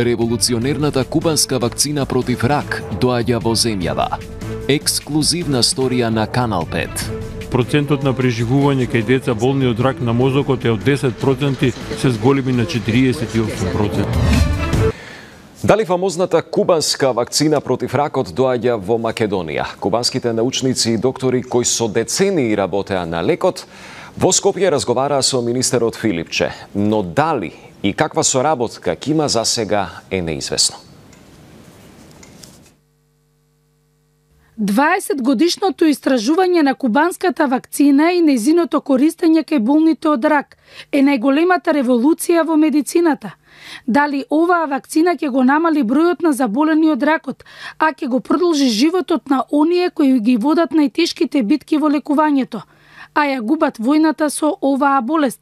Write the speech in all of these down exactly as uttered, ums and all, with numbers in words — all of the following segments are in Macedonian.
Револуционерната кубанска вакцина против рак доаѓа во земјава. Ексклузивна сторија на Канал пет. Процентот на преживување кај деца болни од рак на мозокот е од десет проценти, се зголеми на четириесет и осум проценти. Дали фамозната кубанска вакцина против ракот доаѓа во Македонија? Кубанските научници и доктори кои со децении работеа на лекот, во Скопје разговараа со министерот Филипче, но дали и каква соработка ќе има за сега е неизвестно. дваесет годишното истражување на кубанската вакцина и нејзиното користење кај болните од рак е најголемата револуција во медицината. Дали оваа вакцина ќе го намали бројот на заболени од ракот, а ќе го продолжи животот на оние кои ги водат најтешките битки во лекувањето, а ја губат војната со оваа болест?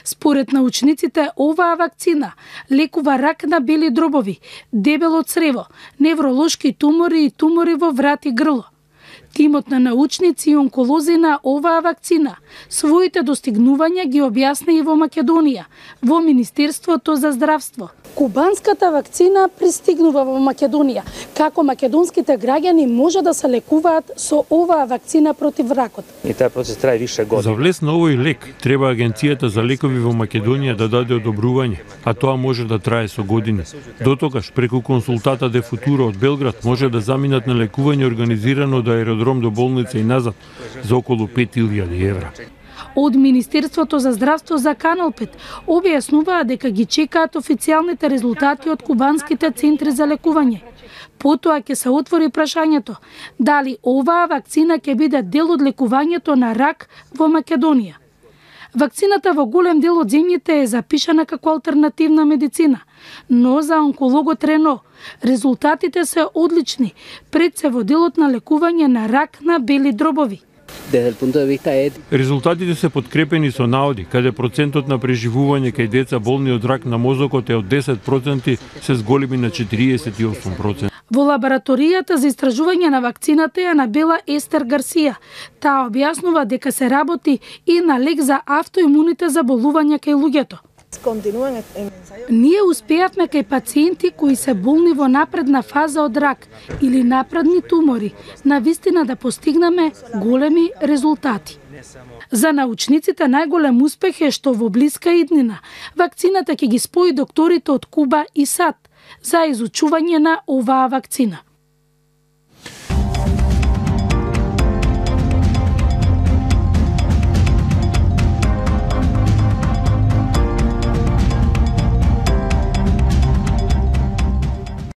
Според научниците, оваа вакцина лекува рак на бели дробови, дебело црево, невролошки тумори и тумори во врат и грло. Тимот на научници и онколози на оваа вакцина своите достигнувања ги објасни и во Македонија, во Министерството за здравство. Кубанската вакцина пристигнува во Македонија, како македонските граѓани може да се лекуваат со оваа вакцина против ракот. И тај процес трае више години. За влез на овој лек треба Агенцијата за лекови во Македонија да даде одобрување, а тоа може да трае со години. Дотогаш преку консултата де Футуро од Белград може да заминат на лекување организирано од аеродром до болница и назад за околу пет илјади евра. Од Министерството за здравство за Канал пет објаснуваа дека ги чекаат официјалните резултати од кубанските центри за лекување. Потоа ќе се отвори прашањето дали оваа вакцина ќе биде дел од лекувањето на рак во Македонија. Вакцината во голем дел од земјите е запишана како алтернативна медицина, но за онкологот Рено резултатите се одлични, пред се во делот на лекување на рак на бели дробови. Резултатите се подкрепени со наоди, каде процентот на преживување кај деца болни од рак на мозокот е од десет проценти, се зголеми на четириесет и осум проценти. Во лабораторијата за истражување на вакцината ја набела Естер Гарсија. Таа објаснува дека се работи и на лек за автоимуните заболувања кај луѓето. Ние успеавме кај пациенти кои се болни во напредна фаза од рак или напредни тумори, навистина да постигнеме големи резултати. За научниците најголем успех е што во блиска иднина вакцината ќе ги спои докторите од Куба и САД за изучување на оваа вакцина.